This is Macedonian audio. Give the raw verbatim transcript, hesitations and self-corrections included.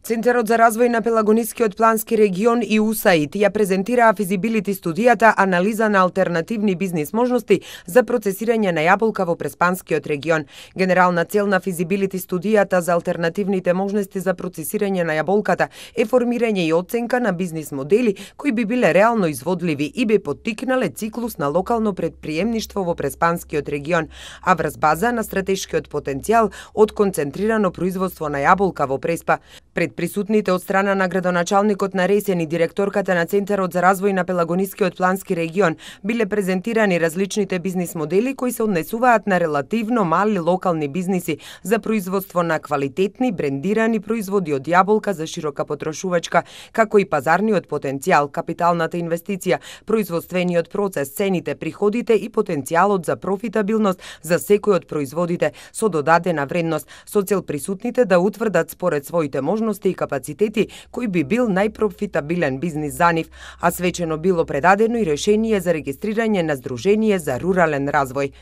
Центарот за развој на Пелагонискиот плански регион и ю ес ей ай ди ја презентираа физибилити студијата анализа на алтернативни бизнис можности за процесирање на јаболка во Преспанскиот регион. Генерална цел на физибилити студијата за алтернативните можности за процесирање на јаболката е формирање и оценка на бизнис модели кои би биле реално изводливи и би поттикнале циклус на локално предприемништво во Преспанскиот регион, а врз база на стратешкиот потенцијал од концентрирано производство на јаболка во Преспа. Пред присутните од страна на градоначалникот на Ресен и директорката на Центарот за развој на Пелагонискиот плански регион биле презентирани различните бизнис модели кои се однесуваат на релативно мали локални бизниси за производство на квалитетни брендирани производи од јаболка за широка потрошувачка, како и пазарниот потенцијал, капиталната инвестиција, производствениот процес, цените, приходите и потенцијалот за профитабилност за секој од производите со додадена вредност, со цел присутните да утврдат според своите можности и капацитети кој би бил најпрофитабилен бизнис за нив, а свечено било предадено и решение за регистрирање на Здружение за рурален развој.